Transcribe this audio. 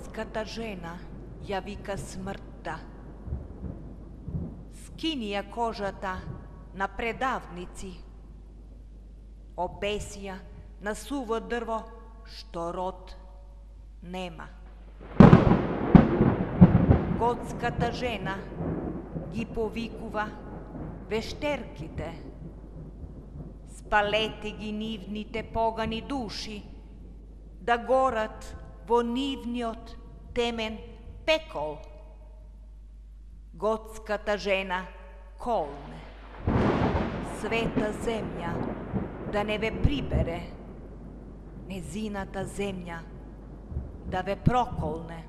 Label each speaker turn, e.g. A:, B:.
A: Готската жена ја вика смртта. Скини ја кожата на предавници, обеси ја на суво дрво што род нема. Готската жена ги повикува вештерките, спалете ги нивните погани души, да горат во нивниот темен пекол. Готската жена колне, света земја да не ве прибере, незината земја да ве проколне.